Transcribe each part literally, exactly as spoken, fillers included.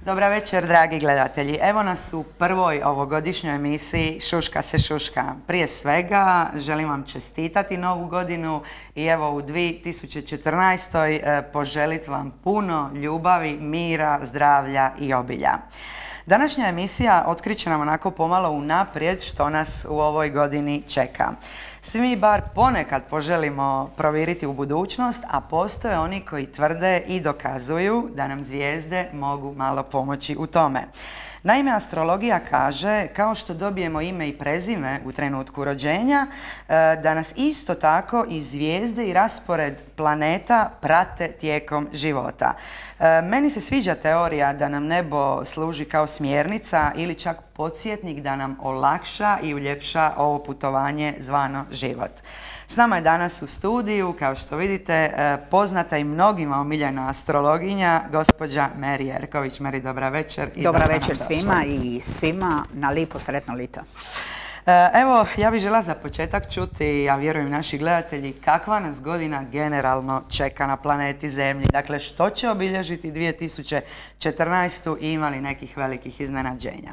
Dobra večer, dragi gledatelji. Evo nas u prvoj ovogodišnjoj emisiji Šuška se šuška. Prije svega želim vam čestitati novu godinu i evo u dvije tisuće četrnaestoj poželiti vam puno ljubavi, mira, zdravlja i obilja. Današnja emisija otkriće nam onako pomalo unaprijed što nas u ovoj godini čeka. Svi mi bar ponekad poželimo provjeriti u budućnost, a postoje oni koji tvrde i dokazuju da nam zvijezde mogu malo pomoći u tome. Naime, astrologija kaže, kao što dobijemo ime i prezime u trenutku rođenja, da nas isto tako i zvijezde i raspored planeta prate tijekom života. Meni se sviđa teorija da nam nebo služi kao smjernica ili čak podsjetnik da nam olakša i uljepša ovo putovanje zvano život. S nama je danas u studiju, kao što vidite, poznata i mnogima omiljena astrologinja, gospođa Meri Jerković. Meri, dobra večer. Dobra večer svima i svima na lipo sretno lito. Evo, ja bih žela za početak čuti, ja vjerujem naši gledatelji, kakva nas godina generalno čeka na planeti Zemlji. Dakle, što će obilježiti dvije tisuće četrnaestu i ima li nekih velikih iznenađenja?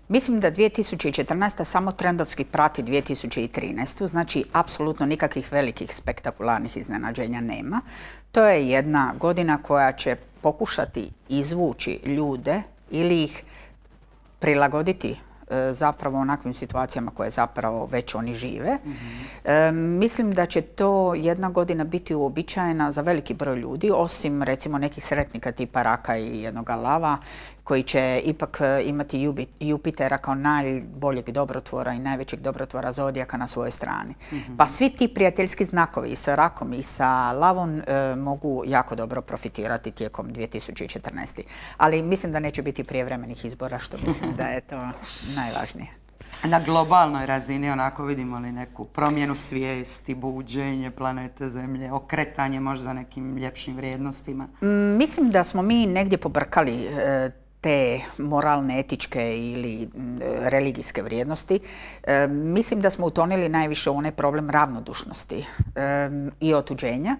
Mislim da dvije tisuće četrnaesta samo trendovski prati dvije tisuće trinaestu, znači apsolutno nikakvih velikih spektakularnih iznenađenja nema. To je jedna godina koja će pokušati izvući ljude ili ih prilagoditi zapravo onakvim situacijama koje zapravo već oni žive. Mm-hmm. e, mislim da će to jedna godina biti uobičajena za veliki broj ljudi, osim recimo nekih sretnika tipa Raka i jednoga Lava, koji će ipak imati Jupitera kao najboljeg dobrotvora i najvećeg dobrotvora zodijaka na svojoj strani. Mm-hmm. Pa svi ti prijateljski znakovi i sa Rakom i sa Lavom e, mogu jako dobro profitirati tijekom dvije tisuće četrnaeste. Ali mislim da neće biti prijevremenih izbora, što mislim da je to najvažnije. Na globalnoj razini onako vidimo li neku promjenu svijesti, buđenje planete Zemlje, okretanje možda nekim ljepšim vrijednostima? Mm, mislim da smo mi negdje pobrkali e, te moralne, etičke ili religijske vrijednosti. E, mislim da smo utonili najviše u onaj problem ravnodušnosti e, i otuđenja.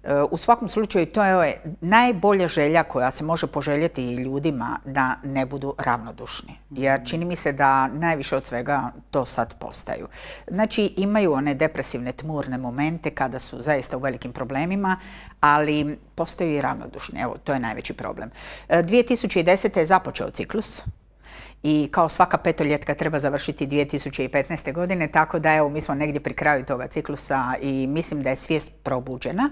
E, u svakom slučaju to je najbolja želja koja se može poželjeti ljudima da ne budu ravnodušni. Jer čini mi se da najviše od svega to sad postaju. Znači imaju one depresivne, tmurne momente kada su zaista u velikim problemima, ali postoji i ravnodušni. Evo, to je najveći problem. dvije tisuće desete je započeo ciklus i kao svaka petoljetka treba završiti dvije tisuće petnaeste. godine, tako da evo mi smo negdje pri kraju toga ciklusa i mislim da je svijest probuđena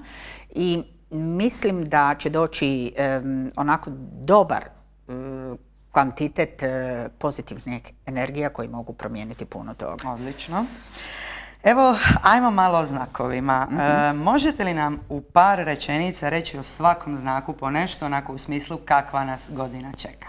i mislim da će doći um, onako dobar um, kvantitet uh, pozitivnih energija koji mogu promijeniti puno toga. Odlično. Evo, ajmo malo o znakovima. Mm-hmm. E, možete li nam u par rečenica reći o svakom znaku po nešto, onako u smislu kakva nas godina čeka?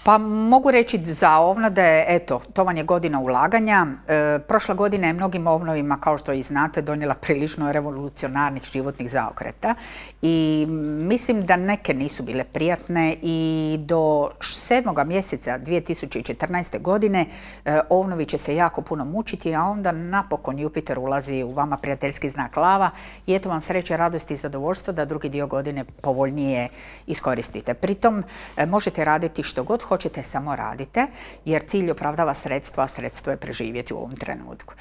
Pa mogu reći za ovnade, eto, to vam je godina ulaganja. E, prošla godina je mnogim ovnovima, kao što i znate, donijela prilično revolucionarnih životnih zaokreta i mislim da neke nisu bile prijatne i do sedmoga mjeseca dvije tisuće četrnaeste. godine e, ovnovi će se jako puno mučiti, a onda napokon Jupiter ulazi u vama prijateljski znak Lava i eto vam sreće, radosti i zadovoljstva da drugi dio godine povoljnije iskoristite. Pritom e, možete raditi što god hoćete, samo radite, jer cilj opravdava sredstvo, a sredstvo je preživjeti u ovom trenutku.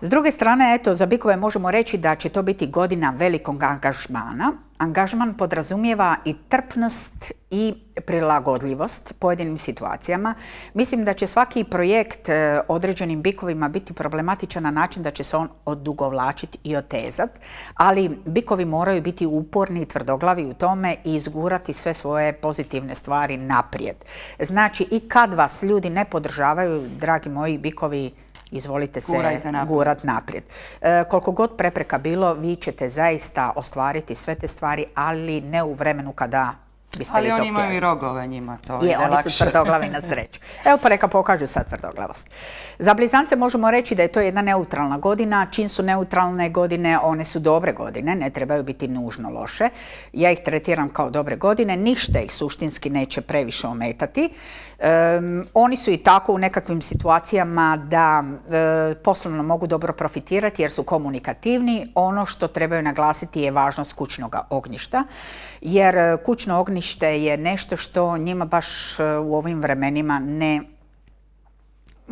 S druge strane, eto, za bikove možemo reći da će to biti godina velikog angažmana. Angažman podrazumijeva i trpnost i prilagodljivost pojedinim situacijama. Mislim da će svaki projekt e, određenim bikovima biti problematičan na način da će se on odugovlačiti i otezati, ali bikovi moraju biti uporni i tvrdoglavi u tome i izgurati sve svoje pozitivne stvari naprijed. Znači, i kad vas ljudi ne podržavaju, dragi moji bikovi, izvolite se naprijed. gurat naprijed. E, koliko god prepreka bilo, vi ćete zaista ostvariti sve te stvari, ali ne u vremenu kada Biste Ali li to oni imaju htjeli? i rogove njima, to Je, ide oni lakše. su tvrdoglavi na sreću. Evo pa neka pokažu sad tvrdoglavost. Za blizance možemo reći da je to jedna neutralna godina. Čim su neutralne godine, one su dobre godine, ne trebaju biti nužno loše. Ja ih tretiram kao dobre godine, ništa ih suštinski neće previše ometati. Um, oni su i tako u nekakvim situacijama da e, poslovno mogu dobro profitirati jer su komunikativni. Ono što trebaju naglasiti je važnost kućnog ognjišta, jer kućno ognjište je nešto što njima baš u ovim vremenima ne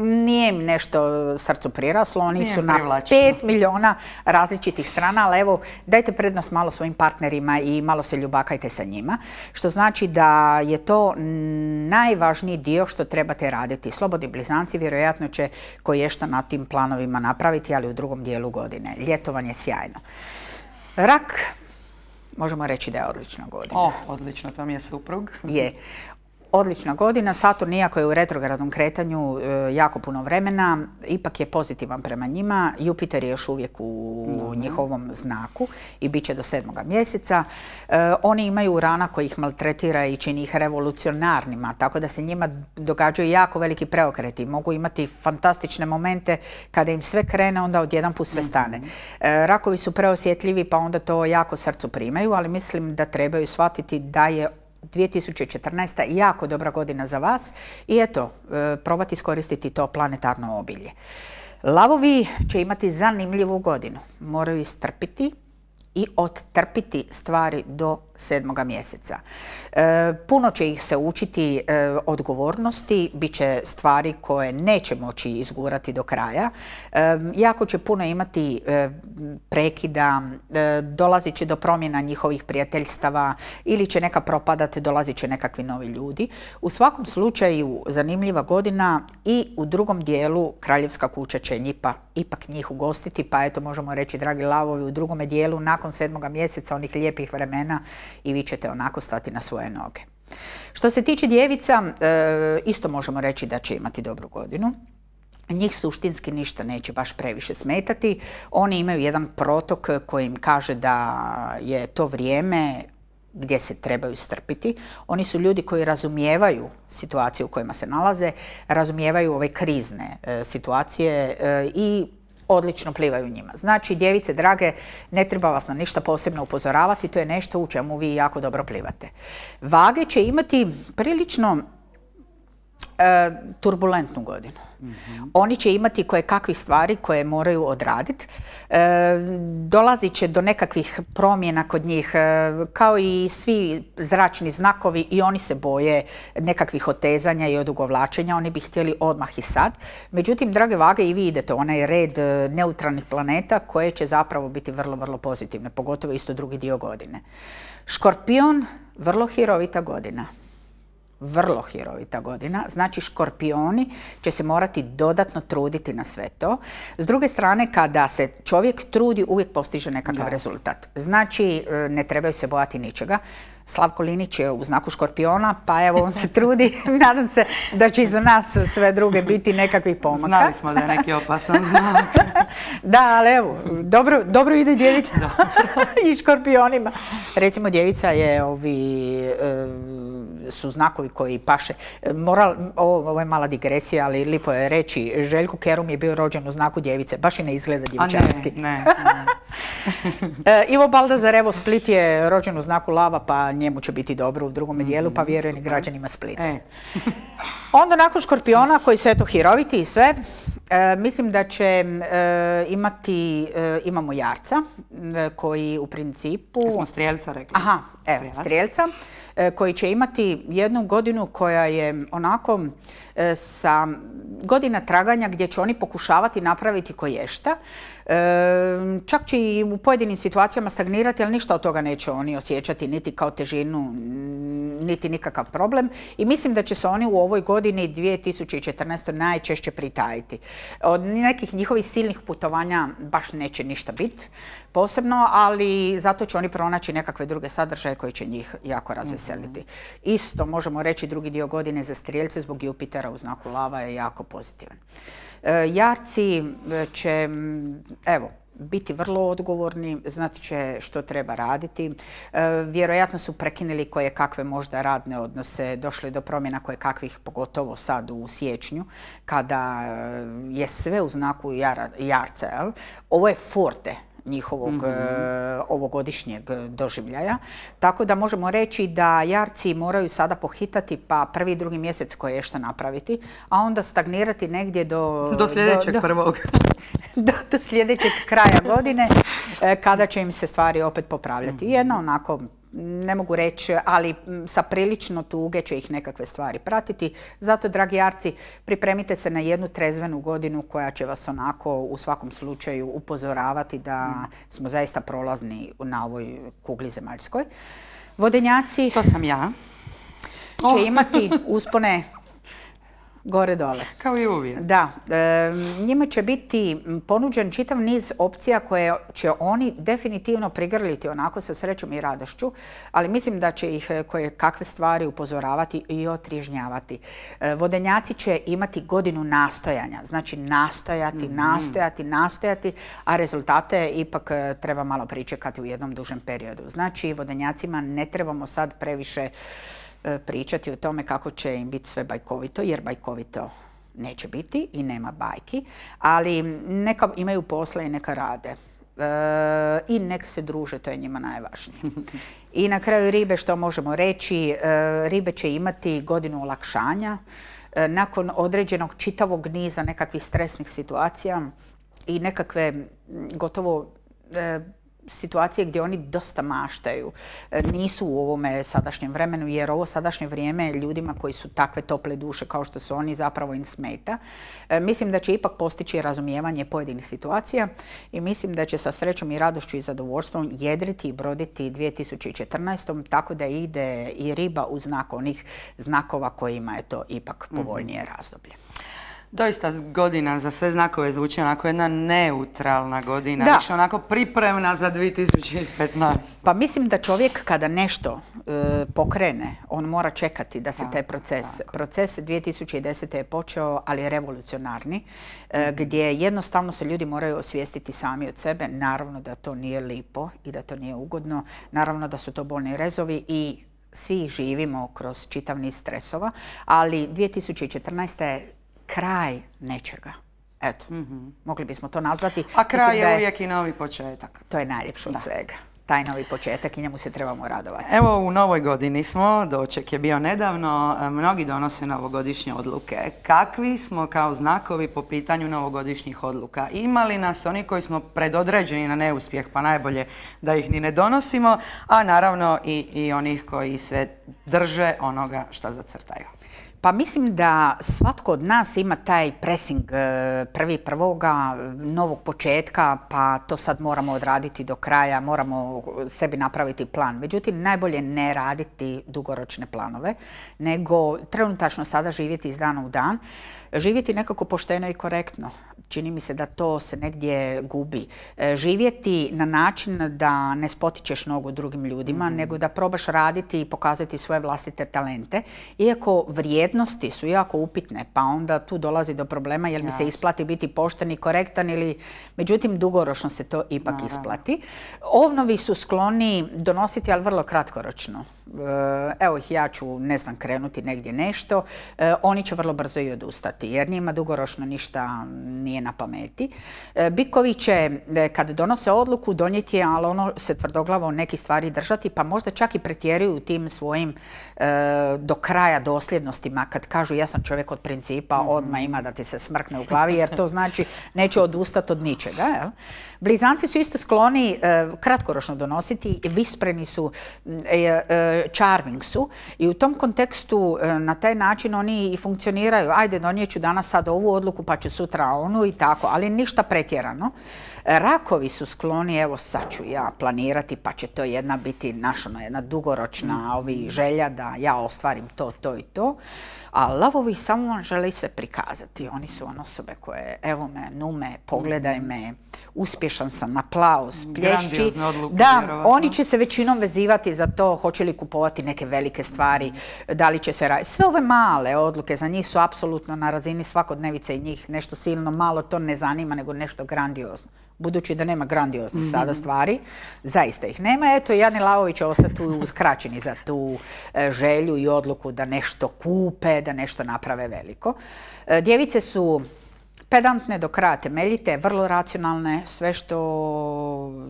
nije im nešto srcu priraslo, oni Nije su na privlačno. pet milijuna različitih strana, ali evo dajte prednost malo svojim partnerima i malo se ljubakajte sa njima, što znači da je to najvažniji dio što trebate raditi. Slobodni blizanci vjerojatno će koješta na tim planovima napraviti, ali u drugom dijelu godine. Ljetovanje je sjajno. Rak, možemo reći da je odlična godina. O, odlično, to mi je suprug. Je. Odlična godina. Saturn, iako je u retrogradnom kretanju e, jako puno vremena, ipak je pozitivan prema njima. Jupiter je još uvijek u no. njihovom znaku i bit će do sedmoga mjeseca. E, oni imaju Urana koji ih maltretira i čini ih revolucionarnima, tako da se njima događaju jako veliki preokreti. Mogu imati fantastične momente kada im sve krene, onda odjedan put sve stane. E, rakovi su preosjetljivi pa onda to jako srcu primaju, ali mislim da trebaju shvatiti da je dvije tisuće četrnaesta. jako dobra godina za vas i eto, probati iskoristiti to planetarno obilje. Lavovi će imati zanimljivu godinu. Moraju istrpiti i odtrpiti stvari do sedmoga mjeseca. E, puno će ih se učiti e, odgovornosti, bit će stvari koje neće moći izgurati do kraja. E, jako će puno imati e, prekida, e, dolazit će do promjena njihovih prijateljstava ili će neka propadati, dolazit će nekakvi novi ljudi. U svakom slučaju zanimljiva godina i u drugom dijelu kraljevska kuća će njipa, ipak njih ugostiti, pa eto možemo reći, dragi lavovi, u drugome dijelu nakon sedmoga mjeseca onih lijepih vremena i vi ćete onako stati na svoje noge. Što se tiče djevica, e, isto možemo reći da će imati dobru godinu. Njih suštinski ništa neće baš previše smetati. Oni imaju jedan protok koji im kaže da je to vrijeme gdje se trebaju strpiti. Oni su ljudi koji razumijevaju situaciju u kojima se nalaze, razumijevaju ove krizne e, situacije e, i odlično plivaju njima. Znači, djevice drage, ne treba vas na ništa posebno upozoravati, to je nešto u čemu vi jako dobro plivate. Vage će imati prilično e, turbulentnu godinu. Mm-hmm. Oni će imati koje kakvih stvari koje moraju odraditi. E, dolazit će do nekakvih promjena kod njih, e, kao i svi zračni znakovi, i oni se boje nekakvih otezanja i odugovlačenja. Oni bi htjeli odmah i sad. Međutim, drage Vage, i vi idete u onaj red neutralnih planeta koje će zapravo biti vrlo, vrlo pozitivne, pogotovo isto drugi dio godine. Škorpion, vrlo hirovita godina. Vrlo hirovita godina, znači škorpioni će se morati dodatno truditi na sve to. S druge strane, kada se čovjek trudi, uvijek postiže nekakav yes. rezultat. Znači, ne trebaju se bojati ničega. Slavko Linić je u znaku škorpiona, pa evo on se trudi. Nadam se da će i za nas sve druge biti nekakvih pomaka. Znali smo da je neki opasan znak. Da, ali evo, dobro, dobro ide djevica i škorpionima. Recimo, djevica je ovi... Um, su znakovi koji paše. Moral, ovo je mala digresija, ali lipo je reći, Željko Kerum je bio rođen u znaku djevice, baš i ne izgleda djevičanski. Ne, ne, ne. e, Ivo Baldazar, evo, Split je rođen u znaku lava, pa njemu će biti dobro u drugome mm-hmm, dijelu, pa vjerujem i građanima Splita. E. Onda nakon škorpiona, koji su eto hiroviti i sve, e, mislim da će e, imati, e, imamo jarca, e, koji u principu... Smo strijelca rekli. Aha, evo, strijelca, e, koji će imati jednu godinu koja je onako e, sa godina traganja gdje će oni pokušavati napraviti koješta. E, čak će i u pojedinim situacijama stagnirati, ali ništa od toga neće oni osjećati niti kao težinu, niti nikakav problem. I mislim da će se oni u ovoj godini dvije tisuće četrnaestoj najčešće pritajiti. Od nekih njihovih silnih putovanja baš neće ništa biti posebno, ali zato će oni pronaći nekakve druge sadržaje koji će njih jako razveseliti. Mm-hmm. Isto možemo reći drugi dio godine za strijelce zbog Jupitera u znaku lava je jako pozitivan. E, jarci će, evo, biti vrlo odgovorni, znati će što treba raditi. Vjerojatno su prekinuli koje kakve možda radne odnose, došli do promjena koje kakvih, pogotovo sad u siječnju, kada je sve u znaku jarca. Jel? Ovo je forte njihovog mm-hmm. e, ovogodišnjeg doživljaja. Tako da možemo reći da jarci moraju sada pohitati pa prvi i drugi mjesec koje što napraviti, a onda stagnirati negdje do... Do sljedećeg do, prvog. do, do sljedećeg kraja godine e, kada će im se stvari opet popravljati. Mm-hmm. Jedna onako, ne mogu reći, ali sa prilično tuge će ih nekakve stvari pratiti. Zato, dragi jarci, pripremite se na jednu trezvenu godinu koja će vas onako u svakom slučaju upozoravati da smo zaista prolazni na ovoj kugli zemaljskoj. Vodenjaci... To sam ja. Će oh. imati uspone gore dole. Kao i uvijek. Da. E, njima će biti ponuđen čitav niz opcija koje će oni definitivno prigrliti onako sa srećom i radošću, ali mislim da će ih koje kakve stvari upozoravati i otrižnjavati. E, vodenjaci će imati godinu nastojanja. Znači nastojati, mm-hmm. nastojati, nastojati, a rezultate ipak treba malo pričekati u jednom dužem periodu. Znači vodenjacima ne trebamo sad previše pričati o tome kako će im biti sve bajkovito, jer bajkovito neće biti i nema bajki, ali neka imaju posla i neka rade. E, I nek se druže, to je njima najvažnije. I na kraju ribe, što možemo reći, e, ribe će imati godinu olakšanja e, nakon određenog čitavog niza nekakvih stresnih situacija i nekakve gotovo e, situacije gdje oni dosta maštaju. Nisu u ovome sadašnjem vremenu, jer ovo sadašnje vrijeme ljudima koji su takve tople duše kao što su oni zapravo im smeta. Mislim da će ipak postići razumijevanje pojedinih situacija i mislim da će sa srećom i radošću i zadovoljstvom jedriti i broditi dvije tisuće četrnaestom tako da ide i riba u znak onih znakova kojima je to ipak povoljnije razdoblje. Doista godina za sve znakove zvuči onako jedna neutralna godina, da. više onako pripremna za dvije tisuće petnaestu. Pa mislim da čovjek kada nešto e, pokrene, on mora čekati da se tako, taj proces... Tako. Proces dvije tisuće desete je počeo, ali je revolucionarni, e, gdje jednostavno se ljudi moraju osvijestiti sami od sebe. Naravno da to nije lipo i da to nije ugodno, naravno da su to bolni rezovi i svi ih živimo kroz čitav niz stresova, ali dvije tisuće četrnaesta je kraj nečega. Eto, mm-hmm. mogli bismo to nazvati. A kraj je, je uvijek i novi početak. To je najljepše od svega. Taj novi početak i njemu se trebamo radovati. Evo, u novoj godini smo, doček je bio nedavno, mnogi donose novogodišnje odluke. Kakvi smo kao znakovi po pitanju novogodišnjih odluka? Ima li nas oni koji smo predodređeni na neuspjeh, pa najbolje da ih ni ne donosimo, a naravno i, i onih koji se drže onoga što zacrtaju? Pa mislim da svatko od nas ima taj pressing prvi prvoga, novog početka, pa to sad moramo odraditi do kraja, moramo sebi napraviti plan. Međutim, najbolje ne raditi dugoročne planove, nego trenutačno sada živjeti iz dana u dan, živjeti nekako pošteno i korektno. Čini mi se da to se negdje gubi. Živjeti na način da ne spotičeš nogu drugim ljudima, mm-hmm. nego da probaš raditi i pokazati svoje vlastite talente. Iako vrijednosti su jako upitne, pa onda tu dolazi do problema jer mi se isplati biti pošten i korektan ili, međutim, dugoročno se to ipak Naravno. isplati. Ovnovi su skloni donositi, ali vrlo kratkoročno. Evo ih, ja ću, ne znam, krenuti negdje nešto. Oni će vrlo brzo i odustati jer njima dugoročno ništa nije na pameti. Bikovi će, kad donose odluku, donijeti, ali ono se tvrdoglavo neki stvari držati, pa možda čak i pretjeruju tim svojim do kraja dosljednostima. Kad kažu ja sam čovjek od principa, odmah ima da ti se smrkne u glavi, jer to znači neće odustati od ničega. Jel? Blizanci su isto skloni kratkoročno donositi, vispreni su, charming su i u tom kontekstu na taj način oni i funkcioniraju. Ajde, donijet ću danas sad ovu odluku pa ću sutra onu i tako, ali ništa pretjerano. Rakovi su skloni, evo sad ću ja planirati pa će to jedna biti naša jedna dugoročna ovi želja da ja ostvarim to, to i to. A lavovi samo vam žele se prikazati. Oni su on osobe koje, evo me, nume, pogledaj me, uspješan sam, aplauz, plješći. Da, vjerovatno. Oni će se većinom vezivati za to hoće li kupovati neke velike stvari, da li će se raditi. Sve ove male odluke za njih su apsolutno na razini svakodnevice i njih nešto silno malo to ne zanima, nego nešto grandiozno. budući da nema grandioznih mm-hmm. sada stvari, zaista ih nema. Eto, Jani Lavovi će ostati uskraćeni za tu e, želju i odluku da nešto kupe, da nešto naprave veliko. E, djevice su pedantne, do kraja temeljite, vrlo racionalne, sve što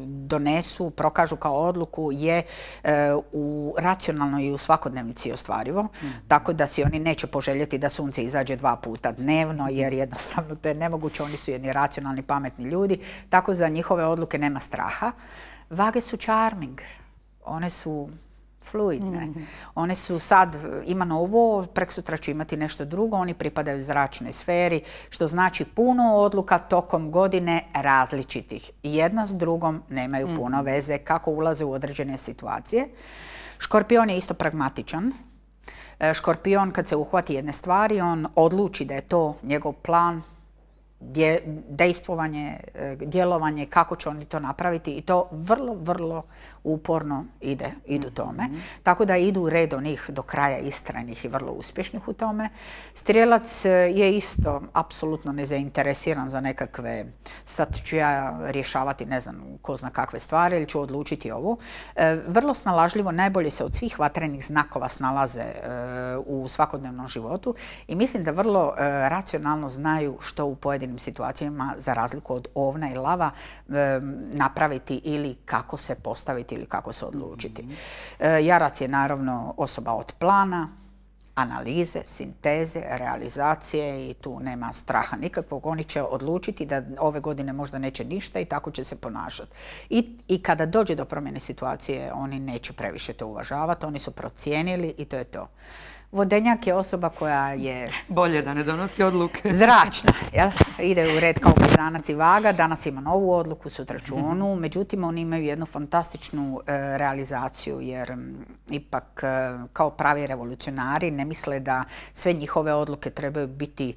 donesu, prokažu kao odluku je e, u racionalno i u svakodnevnici ostvarivo, mm. tako da si oni neće poželjeti da sunce izađe dva puta dnevno, jer jednostavno to je nemoguće, oni su jedni racionalni, pametni ljudi, tako za njihove odluke nema straha. Vage su charming, one su fluidne. Mm-hmm. One su sad, imam ovo, preksutra ću imati nešto drugo, oni pripadaju zračnoj sferi, što znači puno odluka tokom godine različitih. Jedna s drugom nemaju mm-hmm. puno veze kako ulaze u određene situacije. Škorpion je isto pragmatičan. Škorpion kad se uhvati jedne stvari, on odluči da je to njegov plan, dejstvovanje, djelovanje, kako će oni to napraviti i to vrlo, vrlo uporno ide, idu tome. Mm-hmm. Tako da idu red onih do kraja istrajnih i vrlo uspješnih u tome. Strijelac je isto apsolutno nezainteresiran za nekakve, sad ću ja rješavati ne znam ko zna kakve stvari ili ću odlučiti ovu. E, vrlo snalažljivo, najbolje se od svih vatrenih znakova snalaze e, u svakodnevnom životu i mislim da vrlo e, racionalno znaju što u pojedinim situacijama, za razliku od ovna i lava, e, napraviti ili kako se postaviti ili kako se odlučiti. E, Jarac je naravno osoba od plana, analize, sinteze, realizacije i tu nema straha nikakvog. Oni će odlučiti da ove godine možda neće ništa i tako će se ponašati. I, i kada dođe do promjene situacije, oni neće previše to uvažavati, oni su procijenili i to je to. Vodenjak je osoba koja je... Bolje da ne donosi odluke. Zračna, jel? Ide u red kao blizanac i vaga, danas ima novu odluku, sutra ću onu, međutim oni imaju jednu fantastičnu e, realizaciju jer m, ipak e, kao pravi revolucionari ne misle da sve njihove odluke trebaju biti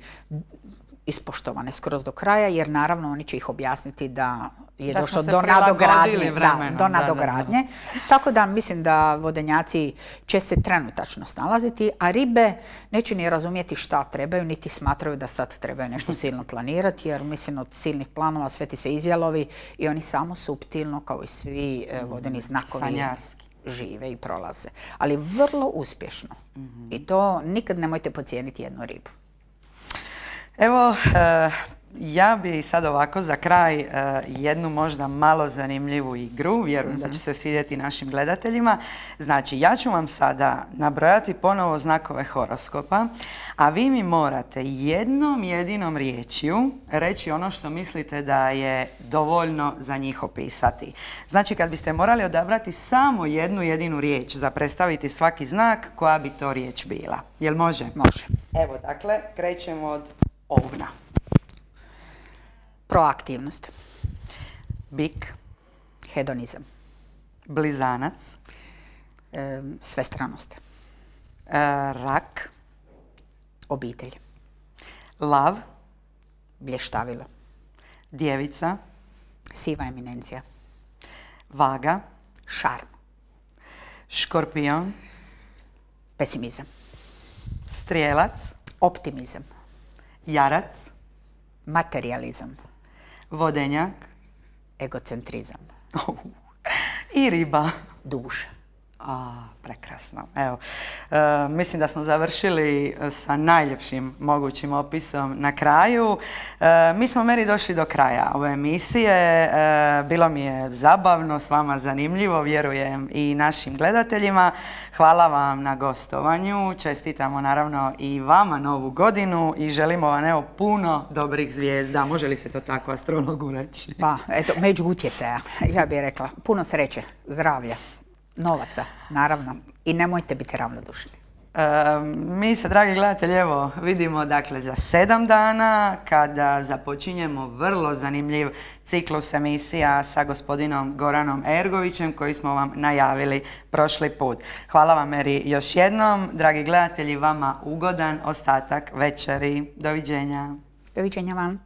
ispoštovane skroz do kraja, jer naravno oni će ih objasniti da je da došlo do nadogradnje. Vremenom, da, do nadogradnje. Da, da, da. Tako da mislim da vodenjaci će se trenutačno snalaziti, a ribe neće ni razumjeti šta trebaju, niti smatraju da sad trebaju nešto silno planirati, jer mislim od silnih planova sve ti se izjalovi i oni samo suptilno, kao i svi mm, vodeni znakovi, sanjarski žive i prolaze. Ali vrlo uspješno. Mm-hmm. I to nikad nemojte podcijeniti jednu ribu. Evo, uh, ja bi sad ovako za kraj uh, jednu možda malo zanimljivu igru, vjerujem mm-hmm. da će se svidjeti našim gledateljima. Znači, ja ću vam sada nabrojati ponovo znakove horoskopa, a vi mi morate jednom jedinom riječju reći ono što mislite da je dovoljno za njih opisati. Znači, kad biste morali odabrati samo jednu jedinu riječ za predstaviti svaki znak, koja bi to riječ bila? Jel može? Može. Evo, dakle, krećemo od ovna. Proaktivnost. Bik. Hedonizam. Blizanac. E, svestranost. E, rak. Obitelj. Lav. Blještavilo. Djevica. Siva eminencija. Vaga. Šarm. Škorpion. Pesimizam. Strijelac. Optimizam. Jarac. Materijalizam. Vodenjak. Egocentrizam. Oh. I riba. Duša. A, prekrasno. Evo, e, mislim da smo završili sa najljepšim mogućim opisom na kraju. E, mi smo meni došli do kraja ove emisije. E, bilo mi je zabavno, s vama zanimljivo, vjerujem i našim gledateljima. Hvala vam na gostovanju. Čestitamo naravno i vama novu godinu i želimo vam evo puno dobrih zvijezda. Može li se to tako astrologu reći? Pa, eto, među utjecaja, ja bih rekla. Puno sreće, zdravlja. Novaca, naravno. I nemojte biti ravnodušni. E, mi se, dragi gledatelji, evo, vidimo dakle za sedam dana kada započinjemo vrlo zanimljiv ciklus emisija sa gospodinom Goranom Ergovićem koji smo vam najavili prošli put. Hvala vam, Eri, još jednom. Dragi gledatelji, vama ugodan ostatak večeri. Doviđenja. Doviđenja vam.